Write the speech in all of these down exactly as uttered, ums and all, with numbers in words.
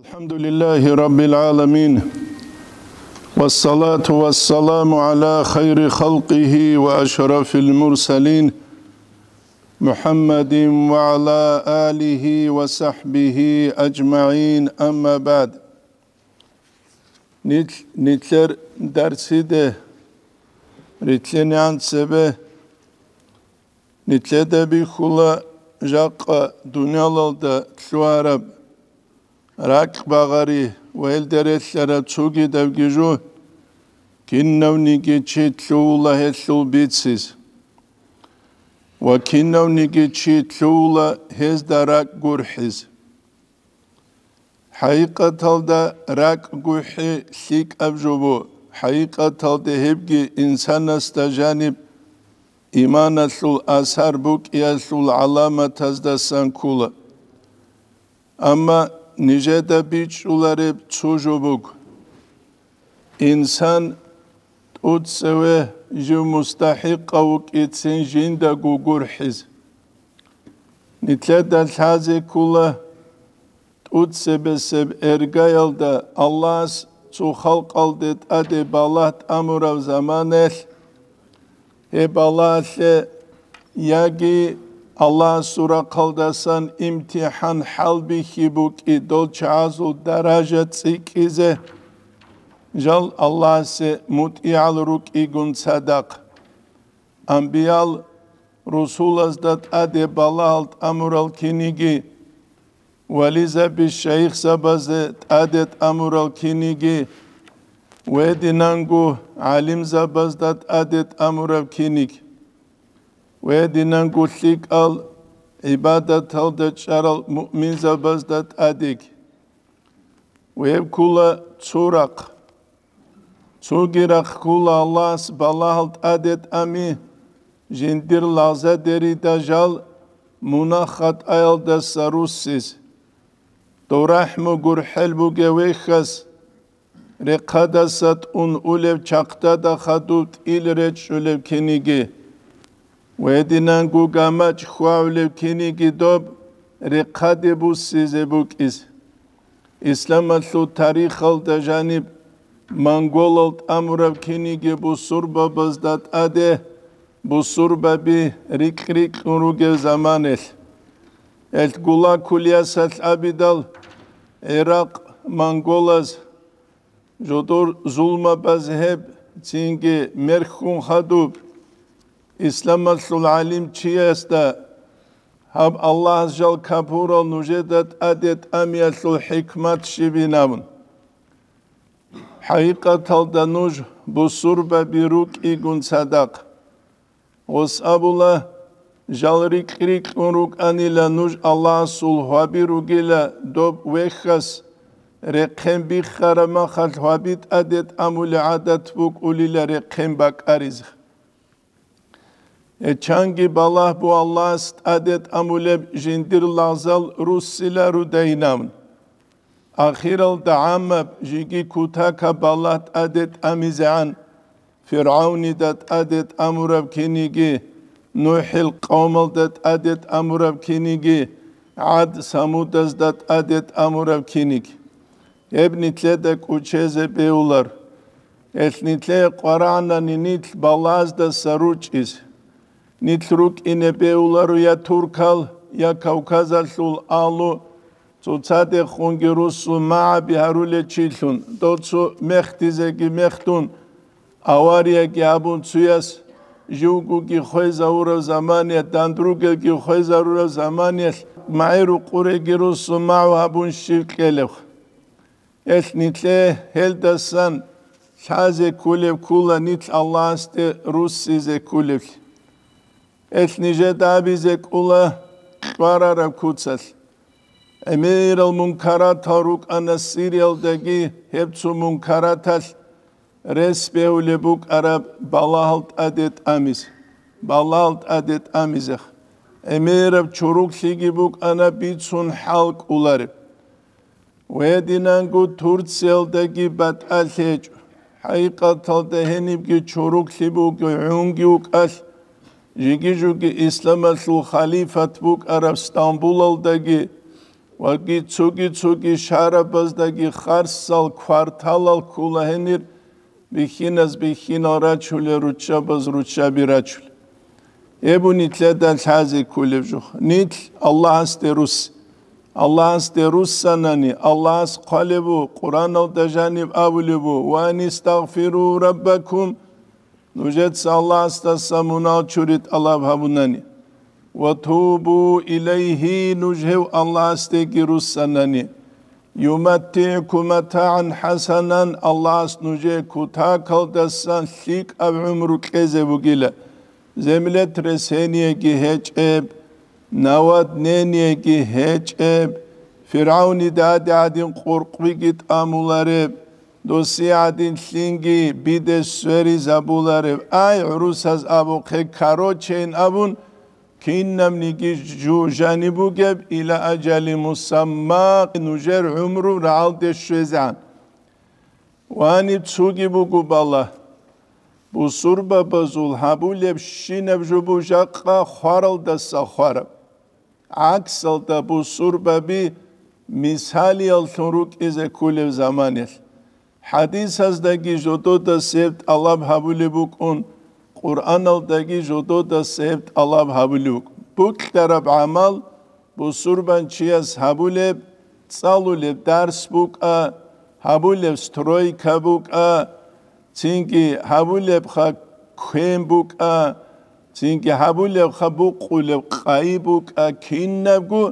الحمد لله رب العالمين، والصلاة والسلام على خير خلقه وأشرف المرسلين، محمد وعلى آله وصحبه أجمعين، أما بعد. Нил-, нилъер дарсиде рилълъинегӀан цебе нилъеда бихьула жакъа дуниялалда лъугьараб ракь багъари ва гьелда релълъараб цогидабги жо, кинавниги чи лъугьула гьелъул бициз ва кинавниги чи лъугьула гьезда ракӀ гурхӀиз. ХӀакъикъаталда ракӀ гурхӀи лъикӀаб жо буго, хӀакъикъаталда гьебги инсанасда жаниб иманалъул асар букӀиялъул гӀаламатаздасан ккола. Амма нижеда бичӀчӀулареб цо жо буго: инсан тӀоцеве жив мустахӀикъав вукӀицин жиндаго гурхӀизе. Нилъеда лъазе ккола тӀоцебесеб эргаялда Аллагьас цо халкъалде тӀаде балагь тӀамураб заманаялъ, гьеб балагьалъе яги Аллагьасул рахъалдасан имтихӀан хӀалбихьи букӀи дол чагӀазул даража цӀикӀкӀизе, жал Аллагьасе мутӀигӀал рукӀигун цадахъ. Амбиял русулазда тӀаде балагьал тӀамурал киниги, вализаби шайихзабазе тӀаде тӀамурал киниги, ва гьединанго гӀалимзабазда тӀаде тӀамураб киниг, ва гьединанго лъикӀал гӀибадаталда чӀарал муъминзабазда тӀадеги. Гьеб ккола цо рахъ. Цоги рахъ ккола Аллагьас балагьал тӀаде тӀами, жиндир лагъзадерида жал мунагь-хатӀаялдаса руссиз. Дов рахӀму гурхӀел бугев вехьас, рехъадаса тӀун улев чахъдада хадуб тӀил речӀчӀулев киниги, ва гьединанго гамачӀ хьвагӀулев киниги доб рехъаде буссизе букӀиз. Исламалъул тарихалда жаниб монголал тӀамураб киниги бусурбабазда тӀаде бусурбаби рикь-рикьун ругел заманалъ. Гьелъ Гулаг кулиясалъ абидал, ГӀиракъ монголаз жодор зулмабаз гьеб цинги мерхьун хадуб, исламалъул гӀалимчиясда гьаб Аллагьас жал капурал нужеда тӀаде тӀамиялъул хӀикмат щибин абун. ХӀакъикъаталда нуж бусурбаби рукӀигун цадахъ. Гъос абула, жал рикь-рикьун рукӀанила нуж Аллагьасул гьваби ругила, доб вехьас рехъен биххараб махалъ гьваби тӀаде тӀамулеб гӀадат букӀулила рехъен бакӀаризе. Гьечанги балагь бу Аллагьас тӀаде тӀамулеб жиндир лагъзал руссила рудайинабун. Ахиралда гӀаммаб жиги кутакаб балагь тӀаде тӀамизегӀан, ФиргӀавнида тӀаде тӀамураб киниги, НухӀил къавмалда тӀаде тӀамураб киниги, ГӀад-Самудазда тӀаде тӀамураб киниги. Гьеб нилъеда кӀучезе бевулар. Гьелъ нилъее къварагӀанани нилъ балагьаздаса ручӀиз. Нилъ рукӀине бевуларо я туркал, я Кавказалъул агьлу, цоцадехунги руссун магӀаби гьарулел чилъун, доцу мехдизеги мехтун, аварияги гьабун цуяс, живгоги хвезавурав замания, дандругелги хвезарурав заманиялъ магӀи-рукъуреги руссун магӀу гьабун щив кьелев? Гьелъ нилъее гьелдасан лъазе кколеб ккола нилъ Аллагьасде руссизе кколеблъи. Гьелъ нижеда абизе ккола кьварараб куцалъ. ГӀемерал мункаратал рукӀана Сириялдаги, гьеб цо мункараталъ рес бегьулеб букӀараб балагьал тӀаде тӀамизе, балагьал тӀаде тӀамизех. ГӀемераб чуруклъиги букӀана бицун хӀал кӀолареб. Гьединанго Турциялдаги батӀалъи гьечӀо. ХӀакъикъаталда гьенибги чуруклъи буго гӀунги вукӀалъ, жиги-жуги исламалъул халифат букӀараб Стамбулалдаги, Ва цоги-цоги шарабаздаги харсал кварталал ккола гьенир бихьиназ бихьинал рачулел, руччабаз руччаби рачулел. Гьеб нилъеда лъазе кколеб жо. Нилъ Аллагьасде русс. Аллагьасде руссанани, Аллагьас хъвалеб буго, Къуръаналда жаниб абулеб буго: «Ва анистагъфиру раббакум», нужеца Аллагьасдаса мунагьал чури тӀалаб гьабунани. «Ва тубу илайгьи», нуж гьев Аллагьасдеги руссанани. «ЮматтигӀкум матагӀан хӀасанан», Аллагьас нужее кутакалдасан лъикӀаб гӀумру кьезе бугила. Землетрясениеги гьечӀеб, наводнениеги гьечӀеб, ФиргӀавнида гьадин къуркъбиги тӀамулареб, досие гьадин лъинги биде сверизабулареб. Ай, гӀурусаз абухъе, корочейин абун, кинабниги жу жаниб бугеб, иля ажали мусамма, нужер гӀумру рагӀалде щвезегӀан. Вани цуги буго бала. Бусурбабазул гьабулеб щинаб жо буго жакъа хваралдаса хвараб. ГӀаксалда бусурбаби мисалияллъун рукӀизе кколеб заманалъ. ХӀадисаздаги жододаса гьеб тӀалаб гьабулеб букӀун, Къуръаналдаги жододаса гьеб тӀалаб гьабулеб букӀун. Бокьараб гӀамал бусурбан чияс гьабулеб, цӀалулеб дарс букӀа, гьабулеб стройка букӀа, цинги гьабулебха квен букӀа, цинги гьабулебха букъулеб къайи букӀа, кинабго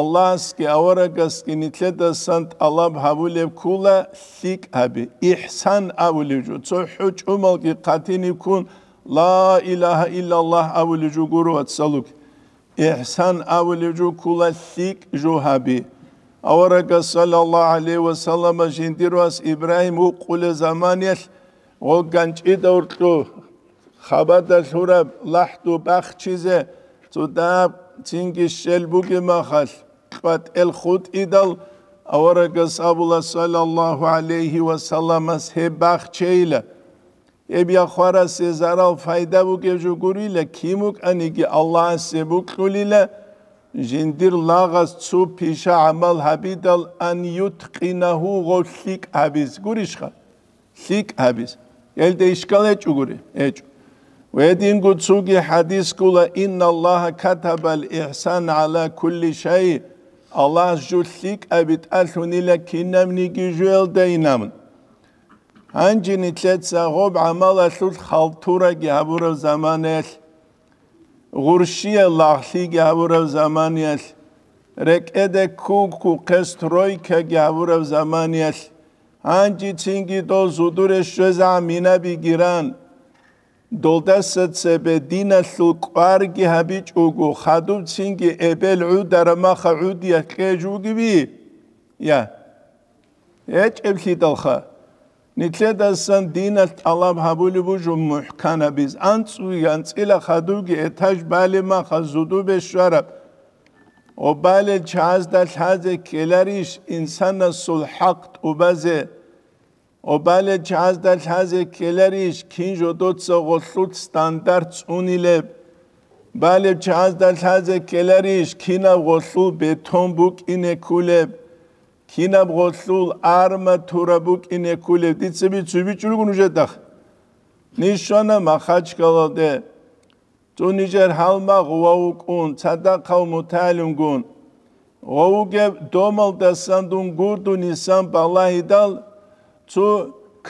Аллагьасги аварагасги нилъедасан тӀалаб гьабулеб ккола лъикӀ гьаби, ихсан абулеб жо. Цо хӀу чӀумалги хъатиниб ккун, ла илагьа иллаллагь абулеб жо гуро, вацалуги. Ихсан абулеб жо ккола лъикӀ жо гьаби. Аварагас, саллаллагьу гӀалайгьи ва саллама, жиндир вас Ибрагьим вукъулеб заманиялъ, гъо ганчӀида уркьу хабада лъураб лахӀду бахчизе цо дагьаб цинги щел бугеб махалъ, кьватӀел хутӀидал, аварагас абула, саллаллагьу гӀалайгьи ва салламас, гьеб бахчейила. Гьеб я хварасе зарал-пайда бугеб жо гурила, кин вукӀаниги Аллагьасе бокьулила, жиндир лагъас цо пиша гӀамал гьабидал, ан юткъинагьу, гъов лъикӀ гьабиз гурищха? ЛъикӀ гьабиз. Гьелда ишкал гьечӀогури? ГьечӀо. Гьединго цоги хӀадис ккола: «Инналлагьа катабал ихсан гӀала кулли шай», Аллагьас жо лъикӀаби тӀалъунила кинабниги жоялда инабун. Гьанже нилъеца гъоб гӀамалалъулъ халтураги гьабураб заманаялъ, гъурщиял лагълъиги гьабураб заманиялъ, рекӀеде ккун-ккухъе стройкаги гьабураб заманиялъ, гьанжецинги дол зудуре щвезегӀан минабиги ран, долдаса цебе диналъул кӀварги гьабичӀого, хадубцинги эбел гӀудараб маха гӀудиялъ кьеж вугеби? Я. ГьечӀеблъидалха, нилъедасан диналъ тӀалаб гьабулеб буго мухӀканабиз, анцӀуги анцӀила хадубги этаж балеб маха зудубе щвараб. Гъо балел чагӀазда лъазе ккеларищ инсанасул хӀакъ тӀубазе? Гъо балел чагӀазда лъазе ккеларищ кин жодоца гъолъул стандарт цӀунилеб? Балеб чагӀазда лъазе ккеларищ кинаб гъолъул бетон букӀине кколеб? Кинаб гъолъул арматура букӀине кколеб? Дица бицун бичӀчӀулгун нужедахъ. Ниж щвана Махачкалалде. Цо нижер гьалмагъ гъов вукӀун, цадахъав мутагӀалимгун. Гъов вугеб домалдасан дун гурдунисан балагьидал, цо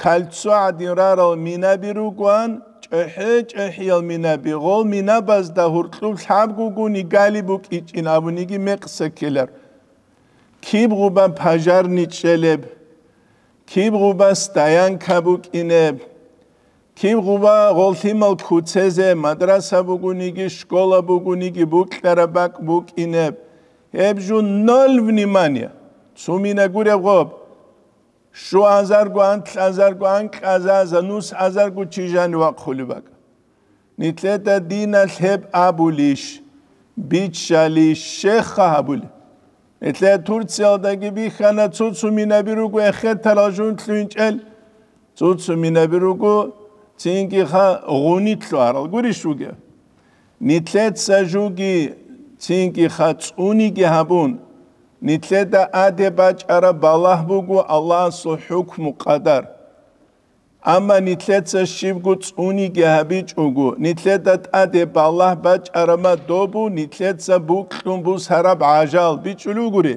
кольцо гӀадин рарал минаби ругоан, чӀехӀе-чӀехӀиял минаби. Гъол минабазда гьуркьуб лъабгугуни гали букӀичӀин абуниги мекъса ккелар. Киб гъуба пожарный чӀелеб, киб гъуба стоянка букӀинеб, киб гъуба гъолъимал куцезе, мадраса бугониги, школа бугониги, букьараб бакӀ букӀинеб, гьеб жо ноль внимания. Цумина гуреб гъоб. Щуазарго, анлъазарго, анкьазаза, нусазарго чи жани вахъулеб бакӀ. Нилъеда диналъ гьеб абулищ, биччалищ, щеха гьабулеб? Нилъеда Турциялдаги бихьана, цо-цо минаби руго эхетарал жун лъугьинчӀел, цо-цо минаби руго цинги ха гъунилъ лъугьарал. Гурищ вугев? Нилъеца жуги цинги ха цӀуниги гьабун, Нилъеда тӀаде бачӀараб балагь буго Аллагьасул хӀукму-къадар. Амма нилъеца щибго цӀуниги гьабичӀого, нилъеда тӀаде балагь бачӀараб ма добу, нилъеца букьун бусараб гӀажал бичӀчӀулев гури.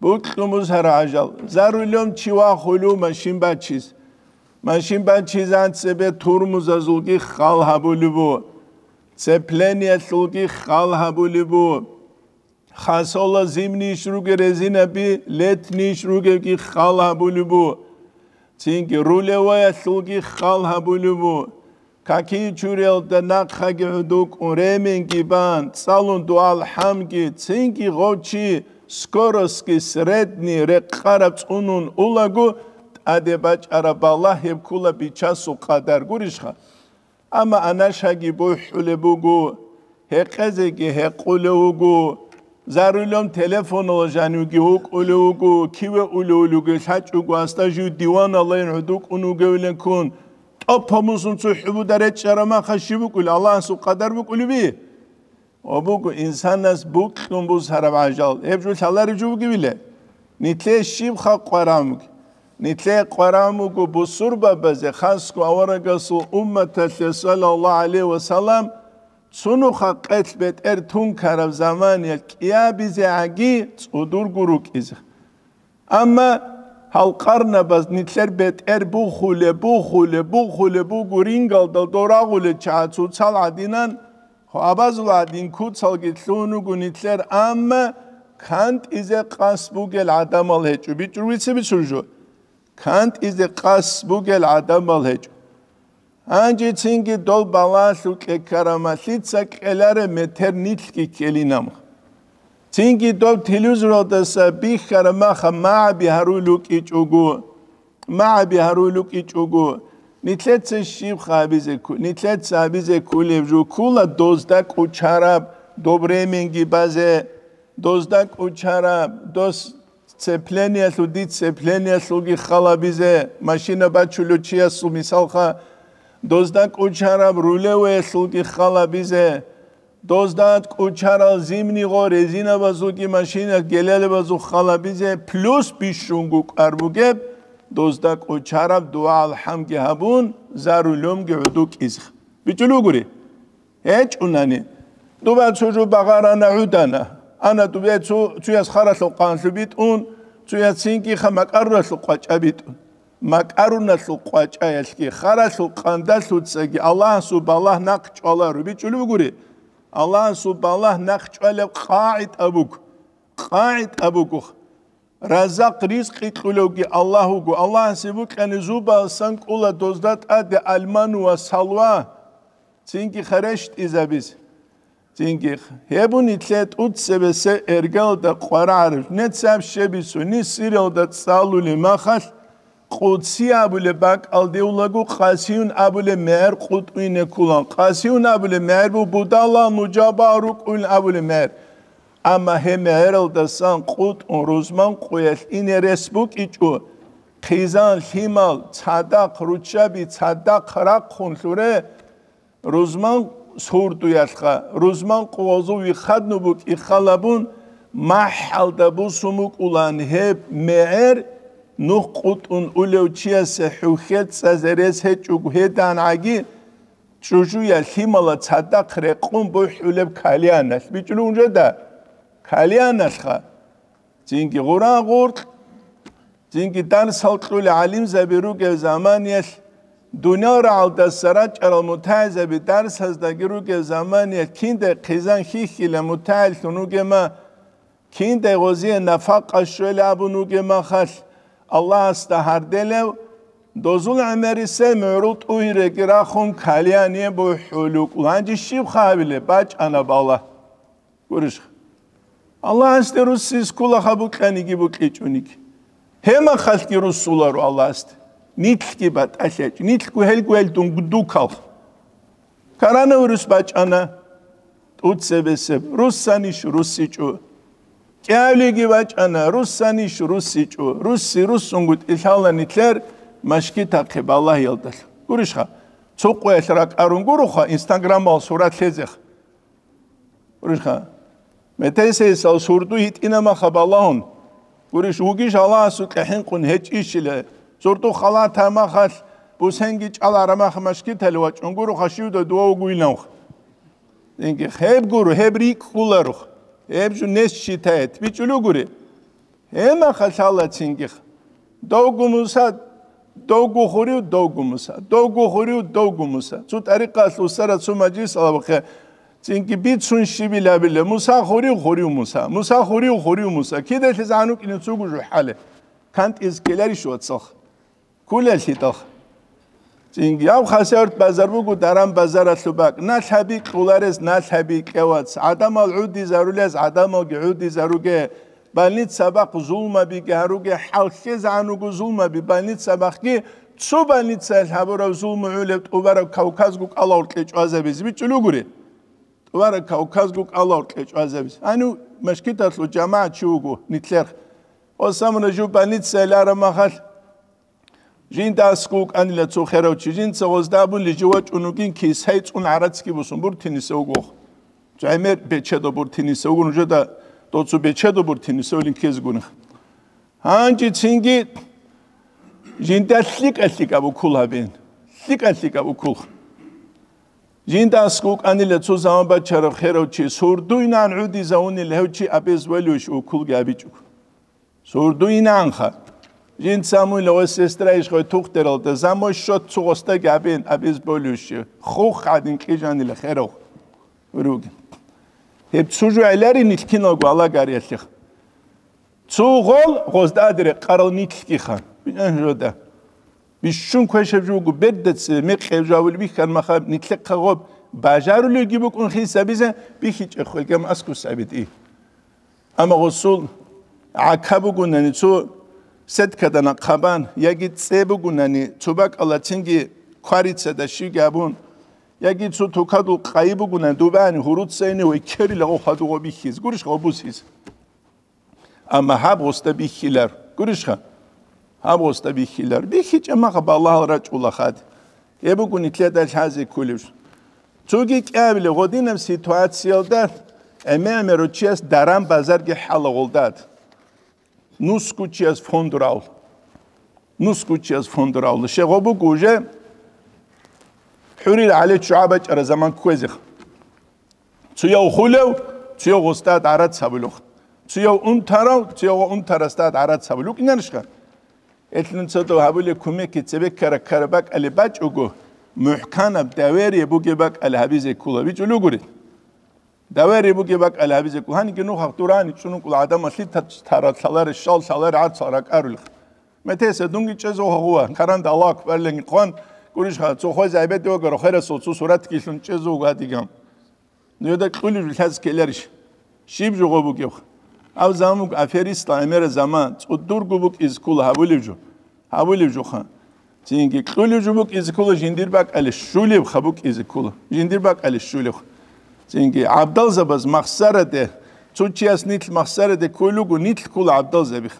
Букьун бусараб гӀажал. За рулем чи вахулев машин бачиз. Машин бачизан цебе турмузазулги хал гьабулеб бу, цеплениялъулги хал гьабулеб бу. Хасола зимниш ругел резинаби, летниш ругелги хал гьабулеб бу. Цинги рулеваялъулги хал гьабулеб бу. Каки чуриялда нахъаги гӀудукӀун, ременги бан, цӀалун дуал хӀамги, цинги гъов чи скоростги средний рекъараб цӀунун улаго, тӀаде бачӀараб балагь гьеб ккула бичасул къадар гурищха? Амма анашаги бухӀулеб буго, гьекъезеги гьекъулев вуго, зарулем телефонал жанивги вукӀулев вуго, киве улев-улевги лъачӀого, асда жив диваналайин гӀудукӀун вугевиланккун, тӀопа мусун цо хӀубуда речӀчӀараб маха щиб букӀулеб, Аллагьасул къадар букӀулеби? Ва буго инсанас букьун бусараб гӀажал, гьеб жо лъалареб жо бугевиле? Нилъее щиб халкъ къварамуг? Нилъее къварамуго бусурбабазе, хасго аварагасул умматалъе, саллаллагьу гӀалайгьи ва саллам, цунуха къелъ бетӀер тункараб заманиялъ кӀиабизегӀаги цӀудурго рукӀизе. Амма гьал къарнабаз нилъер бетӀер бухулеб, бухулеб, бухулеб буго рингалдал дорагъулел чагӀа цоцал гӀадинан, гьабазул гӀадин куцалги лъугьун руго нилъер, амма кантӀизе къасд бугел гӀадамал гьечӀо. БичӀчӀур вица бицун жо. КантӀизе къасд бугел гӀадамал гьечӀо. Гьанже цинги дол балагьалъул кьекарамалъица кьелареб метер нилъги ккелинамха. Цинги доб телевизоралдаса бихьараб маха магӀаби гьарулел рукӀичӀого, магӀаби гьарулел рукӀичӀого, нилъеца щибха гьабизе кку-, нилъеца гьабизе кколеб жо ккула дозда кӀочараб, доб ременги базе, дозда кӀочараб, дос цеплениялъул, дицеплениялъулги халабизе, машина бачулев чиясул мисалха, дозда кӀочараб рулеваялъулги халабизе, дозда кӀочарал зимнигъо резинабазулги машина гелелабазул халабизе, плюс бищунго кӀвар бугеб, дозда кӀочараб дугӀа-алхӀамги гьабун, за рулемги гӀудукӀизе. БичӀчӀулев гури? ГьечӀунани, дуба цо жо багъарана гӀудана. Ана дубе цо, цояс харалъул къанлъу битӀун, цояс цинги ха макӀаруналъул къвачӀа битӀун. МакӀаруналъул къвачӀаялъги, харалъул къандалъуцаги Аллагьасул балагь нахъ чӀваларо. БичӀчӀулев гури? Аллагьасул балагь нахъ чӀвалеб къагӀида буго. КъагӀида буго. Раззакъ, ризкъи кьулевги Аллагь вуго. Аллагьасе букьани зубалсан кӀула дозда тӀаде алману ва салва, цинги херещтӀизабиз. Цинги гьеб нилъее тӀуцебесеб эргалда къварагӀараб, нецаб щебисуни сиралда цӀалулеб махалъ, Къудси абулеб бакӀалде улаго, къасиюн абулеб мегӀер къутӀуйне ккулан. Къасиюн абулеб мегӀер бу будала нужаба рукӀуйн абулеб мегӀер. Амма гьеб мегӀералдасан къутӀун рузман къуялъ ине рес букӀичӀо, хъизан, лъимал, цадахъ, руччаби цадахъ рахъун лъуре, рузман сурдуялъха, рузман къугъозул вихъадну букӀи халабун, махӀалда бусун букӀулан гьеб мегӀер, нух къутӀун улев чиясе хӀухьел цӀазе рес гьечӀого гьедангӀаги, чӀужуя лъимала цадахъ рекъун бухӀулеб кальяналъ. БичӀчӀулев жеда? Кальяналъха. Цинги гъура гъуркь, цинги дарсал кьули гӀалимзаби ругев заманиялъ, дуниял рагӀалдаса рачӀарал мутагӀилзаби дарсаздаги ругев заманиялъ, киндай хъизан хьихьила мутагӀиллъун вугема, киндай гъозие нафакъа щвела абун вугемахалъ, Аллагьасда гьарделев, дозул гӀемерисел мугӀрул тӀугьиреги рахун кальяне бухӀулукӀ. Гьанже щиб хъавилеб бачӀана бала? Гурищха? Аллагьасде руссис ккула ха букьаниги букьичӀониги. Гьемахалъги руссуларо Аллагьасде. Нилъги батӀалъячӀо, нилъго гьелго гьел дун дукалха. Коронавирус бачӀана, тӀуцебесеб, руссанищ руссичӀо. КӀиявлиги бачӀана, руссанищ руссичӀо. Русси руссунгутӀи лъала нилъер машгитахъе балагьиялдалъ. Гурищха? Цо къоялъ ракӀарун гуроха, инстаграмал сурат лъезех. Гурищха? Метесейсал сурду гьитӀина маха балагьун. Гурищ, вугищ Аллагьасукьа хӀинкъун гьечӀищила. Сурду халата махалъ бусенги чӀалара мах машкитали вачӀун гуро хашивда дова вугуйнавх. Цинги гьеб гуро, гьеб рикӀкӀуларухъ. Гьеб жо нес считает. БичӀулугури. Гьемаха лъалацинги. Довгу Муса, довгу хурив, довгу Муса, довгу хурив, довгу Муса. Цо тӀарикъалъ усара цо мажлис алабахъе, цинги бицун щибил абиле, Муса хурив, хурив Муса, Муса хурив, хурив Муса. Кидалъе загьанукӀине цугу жухӀале. КантӀиз ккеларищ вацалха? Кколелъидал. Цинги гьав хасият базар буго, даран базаралъу бакӀ. Налъаби кьоларес налъаби кьевац. ГӀадамал гӀудизарулез гӀадамалги гӀудизаруге. Больница бахъ зулмабиги гьаруге, хӀалхьезагӀан руго зулмаби больница бахъги, цо больницаялъ гьабураб зулму гӀолеб тӀубараб Кавказго кӀалал кьечӀвазабизе бичӀчӀулугури. ТӀубараб Кавказго кӀалал кьечӀвазабизе. Гьанив машкиталъул жамагӀат чи вуго, нитлъер. Осамра жив больницаялъ араб махалъ, жинда аскӀов вукӀанила цо херав чи, жинца гъозда абун лижи вачӀун вугин, кисай цӀун гӀарацги бусун буртиниса вугох. ГӀемер бечедо буртиниса вугун, жеда доцу бечедо буртиниса вулин ккезгуних. Гьанжецинги жинда лъикӀа-лъикӀаб укул гьабин. ЛъикӀа-лъикӀаб укул. Жинда аскӀов вукӀанила цо заман бачараб херав чи, сурдуйнан гӀудизавунил гьев чи абез валуйищ укулги абичӀого. Сурдуйнанха. Жинца муйла ва сестра ишгъой тухтералда, замой счет цо гъостаги абен, абез болюще. Хух гӀадин кьижанила херав. Руги. Гьеб цо жо гӀелари нилъкиналго алагариялъех. Цо гъол гъозда адире къарал нилъгиха. Бинан жода. Бищун квешаб жугу бердац мекъев жавул бихьан маха нилъехъа гъоб бажарулевги букӀун хисабизе бихьичӀеб хвелгам аскус гӀабитӀи. Амма гъусул гӀака бугунани цо сеткада нахъабан, яги цӀе бугунани цо бакӀалацинги кварицада щиги абун, яги цо тукадул къайи бугунани дубани гьуруцайни ва ккерила гъо хадугъо бихьиз, гурищ гъо бусиз. Амма гьаб гъусда бихьилар, гурищха? Гьаб гъусда бихьилар. БихьичӀеб маха балагьал рачӀула хад. Гьеб буго нилъеда лъазе кколеб. Цоги кӀиабилеб гъодинаб ситуациялда гӀемер-гӀемерав чияс даран базарги хӀалагъулдад. Нусгучияс фондурав. Нусгучияс фондурав. Щегъо буго уже хӀурил гӀали ччугӀа бачӀара заман кквезех. Цуяв хулев, цуяв гъустад гӀарац гьабулев. Цуяв унтарав, цуяв унтарасдад гӀарац гьабулев. ВукӀинарищха? Гьелъ нуцадав гьабулеб кумекги цебеккара ккараб бакӀалеб бачӀого, мухӀканаб доверие бугеб бакӀалеб гьабизе ккола. БичӀулугури. Доверие бугеб бакӀалеб гьабизе ккола. Гьаниги нухахъ дурани чӀунукъул гӀадамалъи та-, тара лъаларе, щал лъаларе гӀарцал ракӀарулел. Метеса дунги чӀезо гьагъува, каранда Аллагь акбарилан хъван, гурищха, цо хвезе гӀебеде вагара херасул цо суратги лъун чӀезо гьадиган. Нужеда кьулеб жо лъазе ккеларищ? Щиб жо гъо бугеб? Гьав заман буго аферистал гӀемера заман, цӀудурго букӀизе ккола гьабулеб жо. Гьабулеб жоха. Цинги кьулеб жо букӀизе ккола жиндир бакӀалде щулебха букӀизе ккола. Жиндир бакӀалде щулебха. Цинги гӀабдалзабаз махсараде, цо чияс нилъ махсараде кколего нилъ ккола гӀабдалзабих.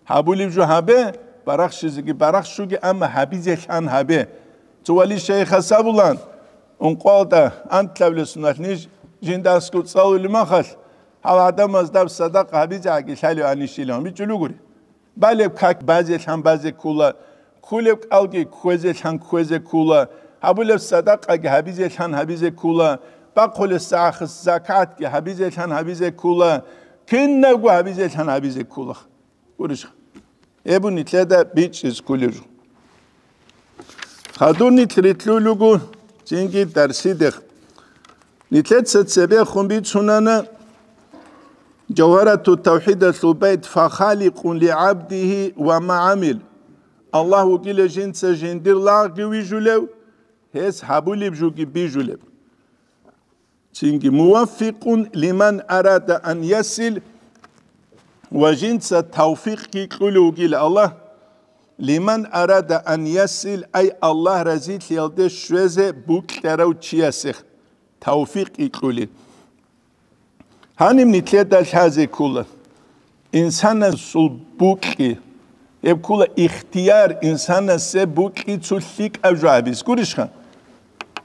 Гьабулеб жо гьабе, барахщизеги барахщуге, амма гьабизе лъан гьабе. Цо вали шайихас абулан, ункъоялда антлъабилеб соналъ ниж жинда аскӀов цӀалулеб махалъ, гьал гӀадамазда садакъа гьабизегӀаги лъалев гьанищилан бичӀчӀулугури. Балеб как базе лъан базе ккола, кколеб кӀалги кквезе лъан кквезе ккола, гьабулеб садакъаги гьабизе лъан гьабизе ккола, бахъулеб сахас закатги гьабизе лъан гьабизе ккола, кинабго гьабизе лъан гьабизе ккола. Гурищха? Гьеб нилъеда бичӀчӀизе кколеб жо. Хадур нилъ рилълъулего цинги дарсидехъ. Нилъеца цебехун бицунана Жавгьарату тавхӀидалъул байт: «Фахаликъун лигӀабдигьи ва ма гӀамил». Аллагь вугила жинца жиндир лагъги вижулев, гьес гьабулеб жоги бижулеб. Цинги: «Муваффикъун лиман арада ан ясил», ва жинца тавфикъги кьулев вугила Аллагь, «лиман арада ан ясил», ай Аллагь разилъиялде щвезе букьарав чиясех тавфикъги кьули. Гьаниб нилъеда лъазе ккола. Инсанасул букьи, гьеб ккола ихтияр, инсанасе букьи цо лъикӀаб жо гьабизе, гурищха?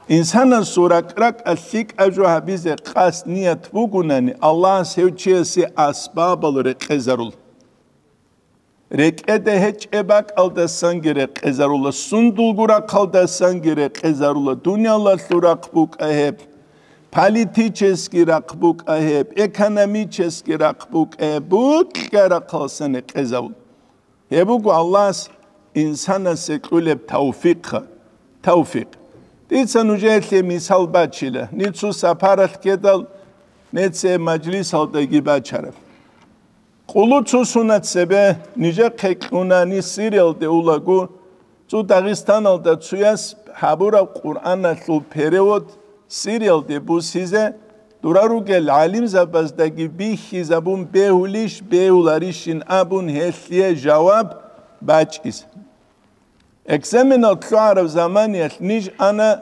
Инсанасул ракӀ-ракӀалъ лъикӀаб жо гьабизе къасд ният бугунани, Аллагьас гьев чиясе асбабал рекъезарул. РекӀеде гьечӀеб бакӀалдасанги рекъезарула, сундулго рахъалдасанги рекъезарула, дуниялалъул рахъ букӀа гьеб, политический рахъ букӀа гьеб, экономический рахъ букӀа гьеб, букьа рахъалсан рекъезавул. Гьеб буго Аллагьас инсанасе кьулеб тавфикъха, тавфикъ. Дица нужеелъе мисал бачила, нецо сапаралъ ккедал, нецее мажлисалдаги бачараб. Къулу цо сунат цебе нижехъе кьуна, ни Сириялде улаго, цо Дагъистаналда цояс гьабураб Къуръаналъул перевод Сириялде бусизе, дура ругел гӀалимзабаздаги бихьизабун бегьулищ, бегьуларищин абун гьелъие жаваб бачӀиз. Экзаменал лъугӀараб заманиялъ ниж ана,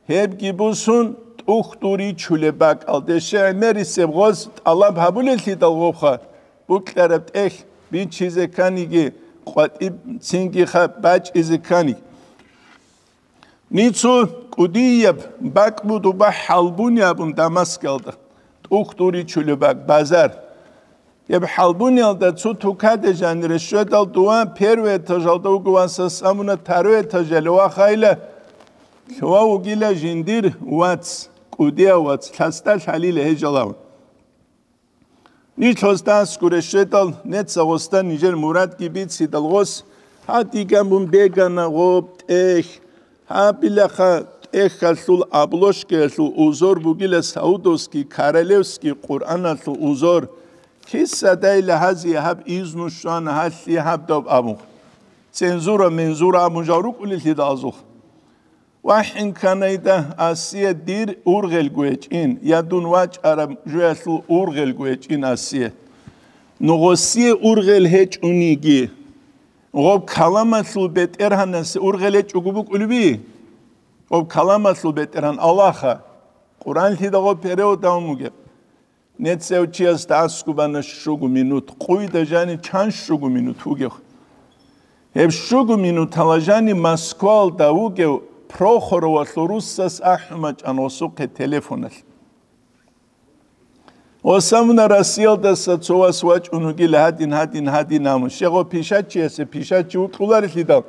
гьебги бусун, тӀухьдул ричулеб бакӀалде щегӀмерисеб гъоз тӀалаб гьабулеллъидал гъобха, букьараб тӀехь бичизе кканиги, къватӀиб цингиха бачӀизе кканиги. Нецо кӀудияб бакӀ буго, хӀалбуни абун, Дамаскалда, тӀухьдул ричулеб бакӀ, базар. Гьеб хӀалбуниялда цо тукаде жанире щведал, дова первый этажалда вуго, васас абуна, второй этажалде вахайила, лъугьа вугила жиндир вац, кӀудияв вац, лъасда лъалила гьежалав. Нилъ гъосда аскуре щведал, нецаго гъосда нижер мурадги бицидал гъос, гьадиган бун бегана гъоб тӀехь, гьабилаха тӀехьалъул обложкаялъул узор бугила Саудовский королевский Къуръаналъул узор, кисадайла гьазие гьаб изну щвана, гьалъие гьаб доб абун. Цензура-мензура абун жал рукӀулеллъидал азул. ВахӀин кканайда, Асия дир ургъелго гьечӀин, я дун вачӀараб жоялъул ургъелго гьечӀин Асия. Ну гъосие ургъел гьечӀониги, гъоб каламалъул бетӀергьанасе ургъел гьечӀого букӀулеби? Гъоб каламалъул бетӀергьан Аллагьха, Къуръанлъидал гъоб перевод гьабун бугеб. Нецев чиясда аскубана щуго минут, къуйда жани чан щуго минут вугев. Гьеб щуго минутала жани Москвалда вугев Прохоровалъул руссас ахӀумачӀан гъосухъе телефоналъ. Гъосамуна Россиялдаса цо вас вачӀун вугила гьадин, гьадин, гьадин абун. Щегъо пишачиясе пишачи вукьуларелъидал,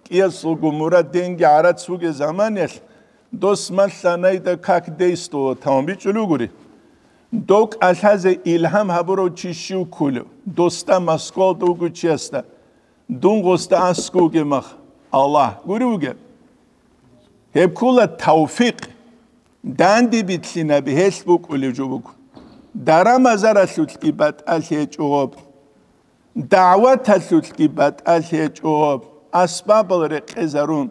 кӀиясулго мурад денги гӀарац вугеб заманиялъ, дос малъанайда как действовать таван бичӀчӀулев гури. Дов кӀалъазе илгьам гьабурав чи щив ккулев? Досда, Москвалда вугев чиясда. Дун гъосда аскӀовге мах, Аллагь гури вугеб. Гьеб ккула тавфикъ. Данде битлъинаби гьелъ букӀулев жо буго. Даран-базаралъулъги батӀалъи гьечӀо гъоб. ДагӀваталъулъги батӀалъи гьечӀо гъоб. Асбабал рекъезарун.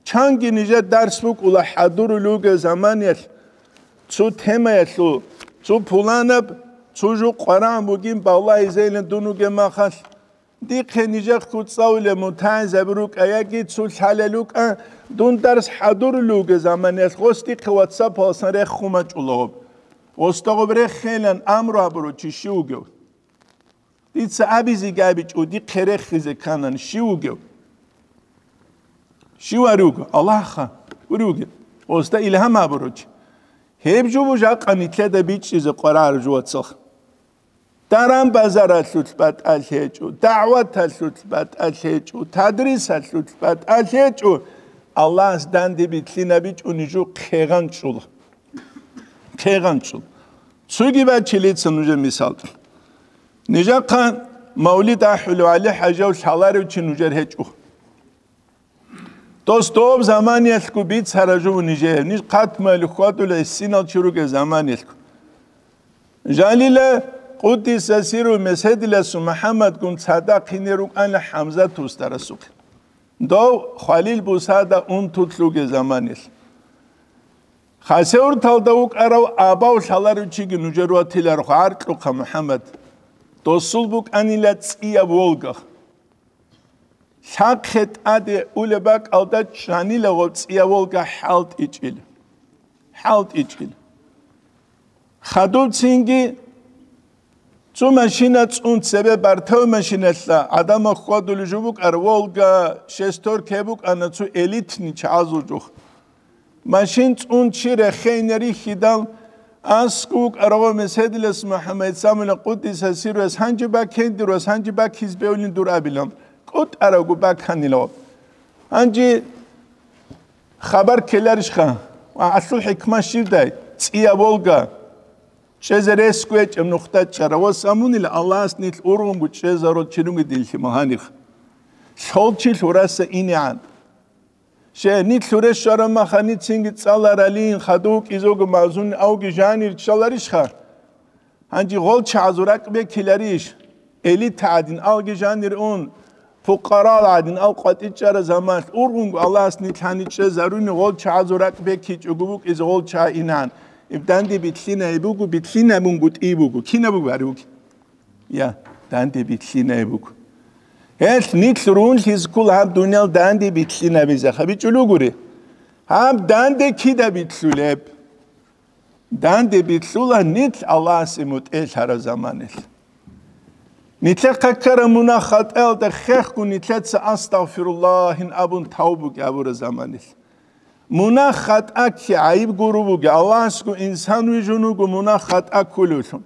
Чанги нижер дарс букӀула хӀадурулев вугев заманиялъ, цо темаялъул, цо пуланаб, цо жо къварагӀун бугин балагьизейилан дун вугеб махалъ. Дихъе нижехъго цӀалулел мутагӀилзаби рукӀа яги цо лъалел рукӀа, дун дарс хӀадурулев вугев заманиялъ гъос дихъе ватсапаласан рехун бачӀула гъоб. Гъосда гъоб рехейилан амру гьабурав чи щив вугев? Дица абизеги абичӀо, дихъе рехизе кканани, щив вугев? Щив вари вуго? Аллагьха гури вугев. Гъосда илгьам гьабурав чи. Гьеб жо буго жакъа нилъеда бичӀчӀизе къварагӀараб жо, вацал. Даран-базаралъулъ батӀалъи гьечӀо, дагӀваталъулъ батӀалъи гьечӀо, тадрисалъулъ батӀалъи гьечӀо, Аллагьас данде битлъинабичӀони жо хъегъанчӀула. ХъегъанчӀул. Цоги бачилица нужер мисал. Нижахъа мавлид ахӀулев ГӀали-хӀажав лъаларев чи нужер гьечӀо. Дос доб заманиялъго бицара жо нижее, ниж хъатмали хьвадулей синал чи ругел заманиялъго. Жалила къуддиса сиру меседиласу МухӀаммадгун цадахъ гьине рукӀана ХӀамзат устарасухъе. Дов хвалил бусада унтулъ ругел заманиялъ. Хасавюрталда вукӀарав абав лъаларев чиги нужер ватиларухъ гӀаркьухъа МухӀаммад. Досул букӀанила цӀияб волга. Лъахъе тӀаде улеб бакӀалда чӀанила гъоб цӀияб волга хӀалтӀичӀил. ХӀалтӀичӀил. Хадубцинги цо машина цӀун цебе бартав машиналъа гӀадамал хьвадулев жо букӀар, Волга, шестерка букӀана цо элитный чагӀазул жух. Машин цӀун чи рехейна рихьидал, аскӀов вукӀарав Меседилас МухӀаммад Самула Къуддиса сирвас гьанже бакендирвас гьанже бакиз бевлин дур абилан, кӀутӀаравго баканилав. Гьанже хабар ккеларищха? Ва гьалъул хӀикмат щибдай? ЦӀия Волга. Чезе рес гьечӀеб нухда чӀара ва самунила Аллагьас нилъ ургъунго чезаро чирунги дилъи магьанихъ. Лъолчи лъураса инегӀан. Щай, нилъ лъуре щвараб махани цинги цӀаларалин, хадув кӀизого мазун авги жанир ччаларищха? Гьанже гъол чагӀазул ракӀ бекиларищ? Элита гӀадин алги жанир ун, пукъарал гӀадин ал къватӀичӀара заманалъ ургъунго Аллагьас нилъани чӀезаруни гъол чагӀазул ракӀ бекичӀого букӀизе гъол чагӀ инан. Иб данде битлъинай буго, битлъинабунго тӀий буго. Кинаб буго гьари вуги? Я, данде битлъинай буго. Гьелъ нилъ рунлъиз ккул гьаб дуниял данде битлъинабизе хабичӀулугури. Гьаб данде кида битлъулеб? Данде битлъула нилъ Аллагьасе мутӀигӀлъараб заманалъ. Нилъехъа ккараб мунагь-хатӀаялда хехго нилъеца «Астагъфируллагьин» абун тавбуги абураб заманалъ. Мунагь-хатӀа кки гӀайиб гуру буги, Аллагьасго инсан вижун вуго мунагь-хатӀа ккулевлъун.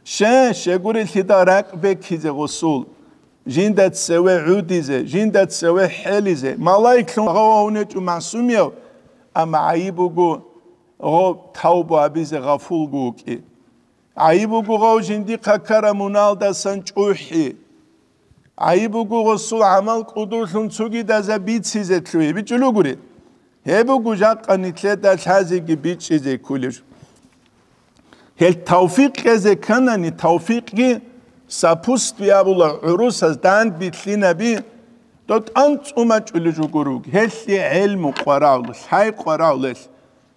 Ще, щегурелъидал ракӀ бекизе гъусул, жинда цеве гӀудизе, жинда цеве хӀелизе, малаиклъун гъававунечӀо масумияв, амма гӀайиб буго гъов тавбу абизе гъафулго вукӀи. ГӀайиб буго гъов жиндихъа ккараб муналдасан чӀухӀи. ГӀайиб буго гъусул гӀамал кӀудулъун цогидаза бицизе лъугьи бичӀулугури. Гьеб буго жакъа нилъеда лъазеги бичӀчӀизе кколеб. Гьел тавфикъ кьезе кканани, тавфикъги сапутствие абула гӀурусаз дандбитлъинаби, дов тӀанцӀумачӀулел жугуруг, гьелъие гӀелму къварагӀула, лъай къварагӀулел.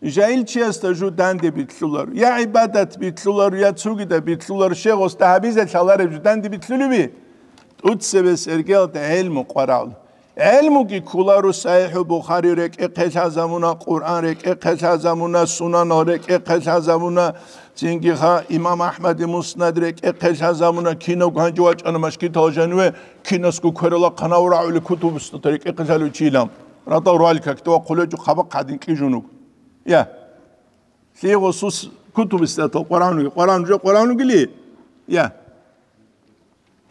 Жагьилчиясда жу данде битлъуларо, я гӀибадат битлъуларо, я цогидаб битлъуларо, щегъосда гьабизе лъалареб жу данде битлъулеби? ТӀуцебе сергелда гӀелму къварагӀула. ГӀелмуги кколаро, СахӀихӀул Бухари рекӀехъе лъазабуна, Къуръан рекӀехъе лъазабуна, Сунанал рекӀехъе лъазабуна, цинги ха Имам Ахмади Муснад рекӀехъе лъазабуна, кинавго гьанже вачӀана машгитал жаниве, кинасго кверала хъанав рагӀули кутубустата рекӀехъе лъалев чилан. Радал ругьалил какде вахъулечӀо хабахъ гьадин кьижунуг. Я. Лъигъусус кутубустатал Къуръан вуги, Къуръан уже Къуръан вугили? Я.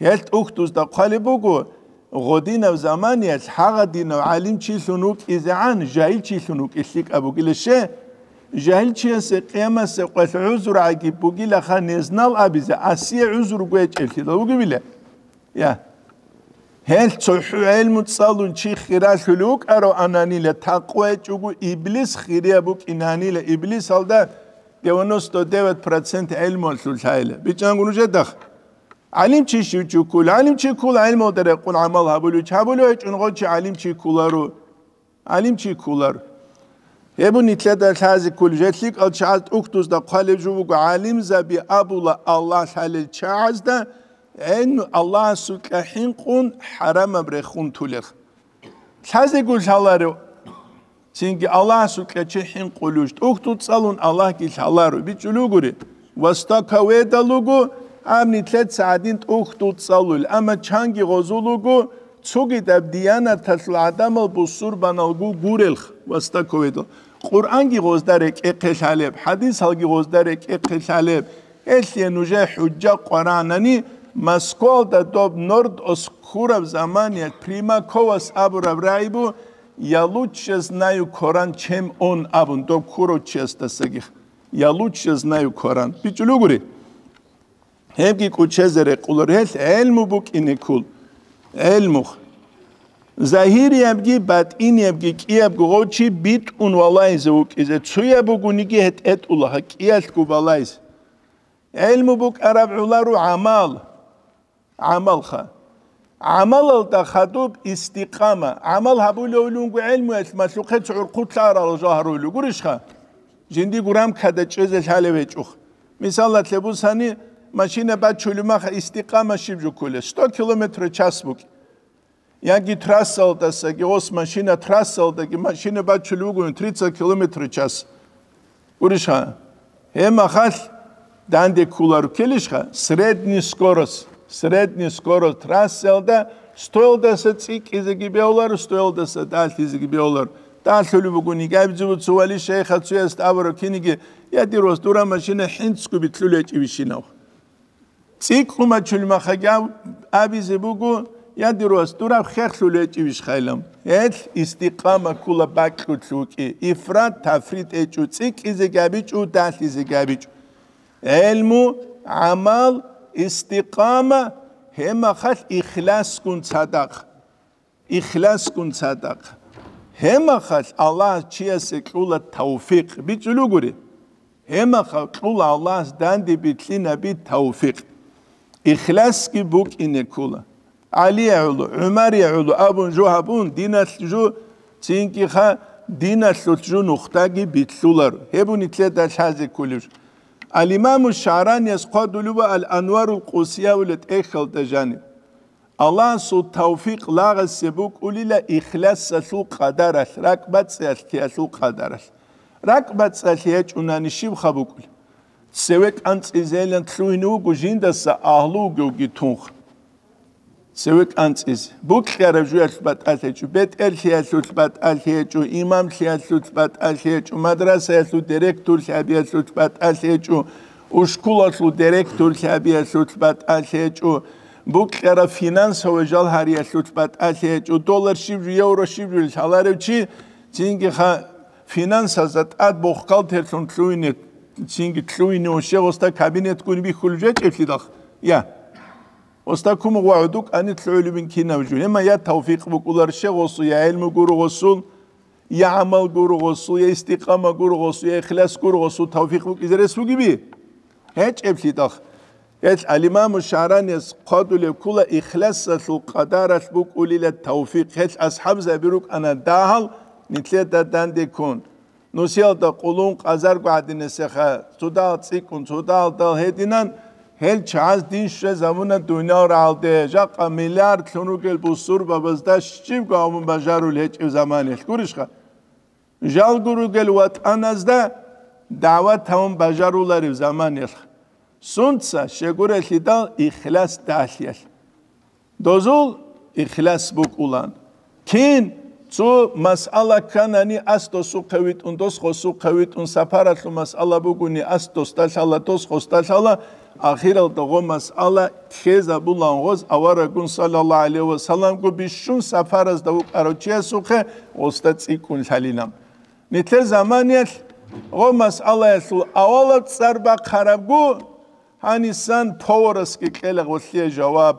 Гьел тӀухьдузда хъвалеб буго, гъодинаб заманиялъ гьагъадинав гӀалимчилъун вукӀизегӀан жагьилчилъун вукӀи лъикӀаб бугила ще? Жагьилчиясе къиямасе къвелъ гӀузру гӀайиб бугилаха, незнал абизе, асие гӀузру гьечӀеблъидал вугевила? Я. Гьел цохӀо гӀелму цӀалун чи хиралъулев вукӀаравананила, такъва гьечӀого иблис хирияб букӀинанила, иблисалда девяносто девять процент гӀелмуялъул лъайила. БичӀчӀанго нужедахъ. ГӀалимчи щив чи ккола? ГӀалимчи ккола гӀелмалда рекъон гӀамал гьабулев чи, гьабулев гьечӀун гъов чи гӀалимчи кколаро. ГӀалимчи кколар. Гьеб нилъеда лъазе кколеб, жел лъикӀал чагӀаз тӀухьдузда хъвалеб жо буго, гӀалимзаби абула Аллагь лъалел чагӀазда гӀелму Аллагьасукьа хӀинкъун хӀарамаб рехун тулел. Лъазего лъаларев? Цинги Аллагьасукьа чи хӀинкъулев, тӀухьдул цӀалун Аллагьги лъаларо, бичӀчӀулугури. Вастаковедал руго, гьаб нилъеца гьадин тӀухьдул цӀалул, амма чанги гъозул руго, цогидаб диянаталъул гӀадамал бусурбаналго гурелха, вастаковедал. Къуръанги гъозда рекӀехъе лъалеб, хӀадисалги гъозда рекӀехъе лъалеб. Гьелъие нужее хӀужжа къваранани, Москвалда доб Норд-Ост ккураб заманиялъ Примаковас абураб рагӀи бу: «Я лучше знаю Коран, чем он», абун, доб ккурав чиясдасаги. «Я лучше знаю Коран». БичӀчӀулугури. Гьебги кӀучезе рекъолар, гьелъ гӀелму букӀине ккол. ГӀелму. Загьириябги батӀиниябги кӀиябго гъов чи битӀун валаизе вукӀизе, цояб бугониги гьетӀетӀула, гьа, кӀиялъго балайзе. ГӀелму букӀараб гӀоларо гӀамал. ГӀамалха. ГӀамалалда хадуб истикъама. ГӀамал гьабулевлунго гӀелмуялъ малъухъе цо гӀурхъулъа арал жо гьарулев гурищха? Жиндиго рамкада чӀезе лъалев гьечӀоха. Мисалалъе бусани, машина бачулеб маха истикъама щиб жо кколеб? Сто километр в час букӀи. Яги трассалдасаги, гъос машина трассалдаги машина бачулев вугони тридцать километр в час. Гурищха? Гьеб махалъ данде кколаро ккелищха? Средний скорость, средний скорость трассалда стоялдаса цӀикӀкӀизеги бегьуларо, стоялдаса далъизеги бегьуларо. Далъулеб бугони, гьабизе буго цо вали шайхас цоясда абураб киниги: «Я, дир вас, дура машина хӀинцлъго битлъулеб гьечӀебищинав?» ЦӀикӀкӀун бачулеб мехалъ гьав абизе буго: «Я, дир вас, дураб хехлъулеб гьечӀебищ хайлам?» Гьелъ истикъама ккола бакьулъ вукӀи, ифрат-тафрит гьечӀо, цӀикӀкӀизеги гьабичӀо, далъизеги гьабичӀо. ГӀелму, гӀамал, истикъама, гьеб мехалъ ихласгун цадахъ. Ихласгун цадахъ. Гьеб мехалъ Аллагьас чиясе кьула тавфикъ. БичӀчӀулеб гури. Гьеб мехалъ кьула Аллагьас данде билълъинаби тавфикъ. Ихласги букӀине ккола. ГӀалие гӀоло, ГӀумарие гӀоло абун жо гьабун, диналъ жо, цинги-ха, диналъулъ жо нухдаги билълъуларо. Гьеб нилъеда лъазе кколеб жо. Ал-Имаму ШагӀраниялъ хъвалеб буго Ал-Анварул Къудсиялда тӀехьалда жаниб. Аллагьасул тавфикъ лагъасе букӀунила ихласалъул къадаралъ, ракӀбацӀцӀиялъ, лъиялъул къадаралъ. РакӀбацӀцӀиялъ гьечӀунани щибха букӀулеб? Цеве кӀанцӀизейилан лъугьине вуго жиндаса агьлу вугевги тунха. Цеве кӀанцӀизе. Букьараб жоялъул батӀалъи гьечӀо, бетӀерлъиялъул батӀалъи гьечӀо, имамлъиялъул батӀалъи гьечӀо, мадрасаялъул директорлъи гьабиялъул батӀалъи гьечӀо, ушкулалъул директорлъи гьабиялъул батӀалъи гьечӀо, букьараб финансовый жал гьариялъул батӀалъи гьечӀо, доллар щиб жо, евро щиб жо лъаларев чи, цинги-ха финансазда тӀад бухгалтерлъун лъугьине, цинги лъугьине ва щегъосда кабинетгун бихьулеб жо гьечӀеблъидал. Я. Гъосда кумугъ ва гӀодукӀани лъугӀулебин кинаб жо. Гьеб мехалъ я тавфикъ букӀуларищ гъосул, я гӀелму гуро гъосул, я гӀамал гуро гъосул, я истикъама гуро гъосул, я ихлас гуро гъосул тавфикъ букӀизе рес бугеби? ГьечӀеблъидал. Гьелъ Ал-Имаму ШагӀраниялъ хъвалеб ккола ихласалъул къадаралъ букӀунила тавфикъ. Гьелъ асхӀабзаби рукӀана дагьал нилъеда данде ккун. Нусиялда къулун къазарго гӀадинасеха, цодагьал цӀикӀкӀун, цодагьал дагьал гьединан, гьел чагӀаз дин щвезабуна дуниял рагӀалде, жакъа миллиардлъун ругел бусурбабазда щибго гьабун бажарулеб гьечӀеб заманалъ гурищха? Жалго ругел ватӀаназда дагӀват гьабун бажарулареб заманалъ. Сунца? Щегурелъидал ихлас дагьлъиялъ. Дозул ихлас букӀулан. Кин цо масъала кканани, ас досухъе витӀун, дос гъосухъе витӀун, сапаралъул масъала бугони, ас досда лъала, дос гъосда лъала, ахиралда гъо масъала ккезабулан гъоз авараггун саллаллагьу гӀалайгьи ва салламго бищун сапаразда вукӀарав чиясухъе гъосда цӀикӀкӀун лъалилан. Нилъер заманиялъ гъо масъалаялъул авалаб цӀар бахъарабго, гьанисан поварасги кьела гъолъие жаваб,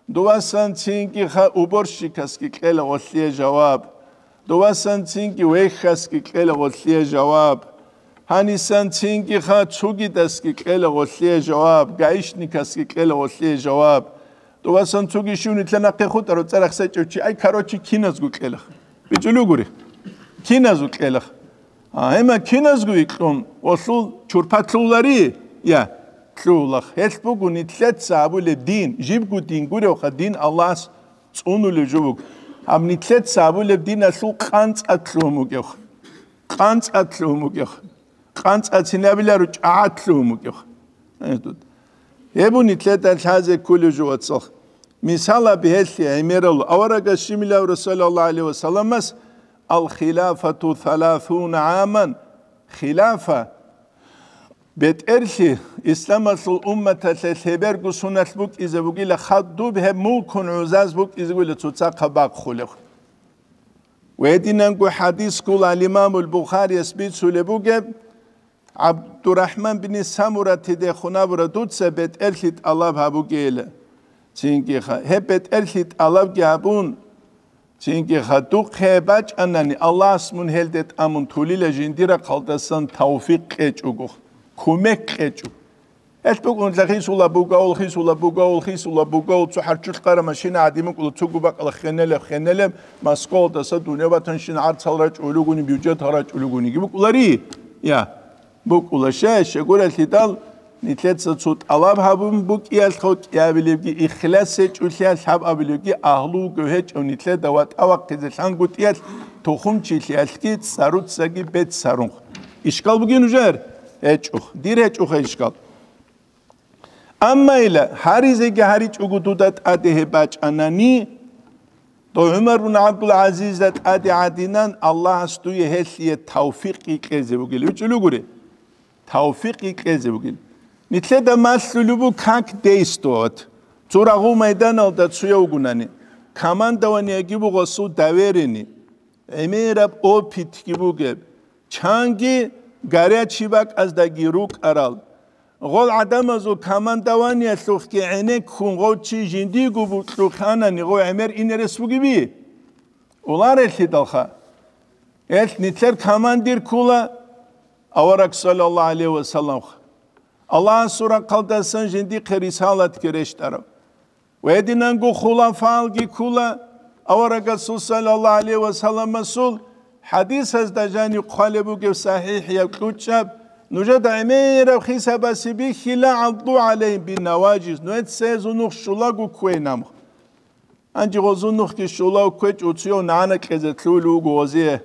дувасан цинги-ха уборщикасги кьела гъолъие жаваб, дувасан цинги вехьасги кьела гъолъие жаваб, гьанисан цинги-ха цугидасги кьела гъолъие жаваб, гаишникасги кьела гъолъие жаваб. Дувасан цуги щив нилъер нахъе хутӀарав цӀарахъ сечӀев чи, ай, короче, киназго кьелах. БичӀчӀулеб гури. Киназго кьелах. А, гьема киназго икьун, гъолъул чурпа лъулари? Я, лъулах. Гьелъ буго нилъеца абулеб дин, жибго дин гуревха, дин Аллагьас цӀунулев жо вуго. Гьаб нилъеца абулеб диналъул къанцӀат лъугьун вугевха. КъанцӀат лъугьун вугевха. КъанцӀацин абиларо, чӀагӀат лъугьун вугев. Гьеб нилъеда лъазе кколев жо, вацал. Мисал гьаб гьелъие гӀемерал аварагас щибилавра, саллаллагьу гӀалайгьи ва салламас: «Ал-хилафату саласуна гӀаман». Хилафа, бетӀерлъи, исламалъул умматалъе лъеберго суналъ букӀизе бугила, хадуб гьеб мулкун гӀузаз букӀизе бугила цоцахъа бахъулев. Гьединанго хӀадис ккола Имамул Бухарияс бицулеб бугеб, ГӀабдурахӀман бин Самуратидехун абура, дуца бетӀерлъи тӀалаб гьабугейила. Цинги-ха, гьеб бетӀерлъи тӀалабги гьабун, цинги-ха, духъе бачӀанани, Аллагьас мун гьелде тӀамун тулила, жиндир рахъалдасан тавфикъ кьечӀого, кумек кьечӀого. Гьелъ букӀун, хисула бугавул, хисула бугавул, хисула бугавул, цо хӀарччулъ къара машина гӀадин букӀула, цого бакӀала хенелеб, хенелеб, Москвалдаса дунебатанщина гӀарцал рачӀулагуни, бюджетал рачӀулагуниги букӀулари? Я, букӀула. Щай, щегурелъидал, нилъеца цо тӀалаб гьабун букӀиялъго кӀиабилебги ихлас гьечӀолъиялъ, гьаб абилебги агьлу вугев гьечӀев нилъеда ватӀа вахъизе лъангутӀиялъ, тухумчилъиялъги цӀаруцаги беццарунх. Ишкал бугин нужер? ГьечӀо. Дир гьечӀоха ишкал. Амма ила, гьаризеги гьаричӀого дуда тӀаде гьеб бачӀанани, Дов ГӀумар бун ГӀабдул-ГӀазизда тӀаде гӀадинан, Аллагьас дуе гьелъие тавфикъ кьезе бугел. ВичӀулев гури? Тавфикъ кьезе бугел. Нилъеда малъулеб буго как действовать. Цо рагъул майданалда цояв вугунани, командованиеги буго гъосул доверени, гӀемераб опытги бугеб, чанги горячий бакӀаздаги рукӀарал. Гъол гӀадамазул командованиялъухъги гӀенеккун гъов чи жиндиго букьухъанани гъов гӀемер ине рес бугеби? Уларелъидалха. Гьелъ нилъер командир ккула авараг саллаллагьу гӀалайгьи ва салламха. Аллагьасул рахъалдасан жиндихъе рисалатги рещтӀараб. Ва гьединанго хулафаалги ккула, аварагасул саллаллагьу гӀалайгьи ва салламасул хӀадисазда жаниб хъвалеб бугеб сахӀихӀияб кьучӀаб, нужеда гӀемераб хисабасе бихьила, гӀадду гӀалайгьим биннаважиз, нужеца гьезул нух щулаго кквейин. Гьанже гъозул нухги щулав кквечӀо, цуяв нагӀана кьезе лъугьулев вуго гъозие.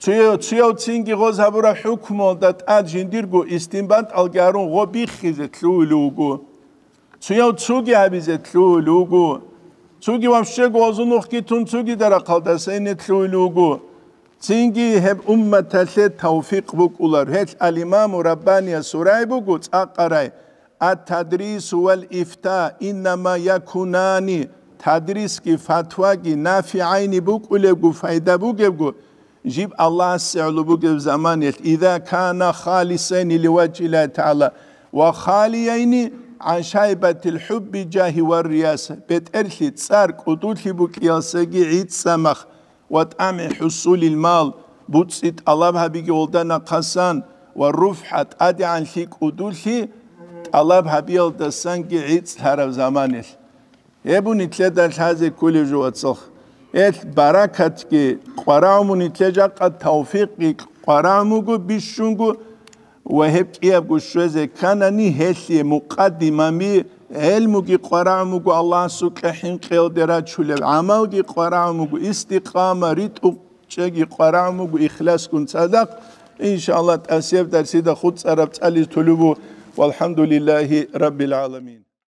Цуяв, цуяв цинги гъоз гьабураб хӀукмуялда тӀад жиндирго истинбатӀалги гьарун гъо биххизе лъугьулев вуго. Цуяв цуги гьабизе лъугьулев вуго. Цуги вообще гъозул нухги тун цугида рахъалдаса ине лъугьулев вуго. Цинги гьеб умматалъе тавфикъ букӀулар. Гьелъ ал-Имаму Раббанияс гьурай буго цӀакъ гьарай: «Ат-тадрису вал ифта иннама якунани», тадрисги фатваги нафигӀайни букӀулебго, пайда бугебго, жиб Аллагьасе гӀоло бугеб заманаялъ, «иза кана халисайни ливажгьиллагьи тагӀала ва халияйни гӀан шайбатил хӀубби, жагьи ва рияса», бетӀерлъи, цӀар, кӀудулъи букӀиялсаги гӀицӀцӀамах, «ва тӀамгӀи хӀусулил мал», буцӀцӀи тӀалаб гьабиги гъолда нахъасан, «ва руфгӀа», тӀадегӀанлъи, кӀудулъи тӀалаб гьабиялдасанги гӀицӀлъараб заманалъ. Гьеб буго нилъеда лъазе кколеб жо, вацал. Гьелъ баракатги къварагӀун буго нилъее, жакъа тавфикъги къварагӀун буго бищунго, ва гьеб кӀиябго щвезе кканани, гьелъие мукъаддимаби, гӀелмуги къварагӀун буго, Аллагьасукьа хӀинкъиялде рачулеб гӀамалги къварагӀун буго, истикъама, ритӀухъчӀеги къварагӀун буго ихласгун цадахъ. Иншааллагь, тӀасияб дарсида хутӀараб цӀализ толеб буго. Валхамдулиллагьи раббил гӀаламин.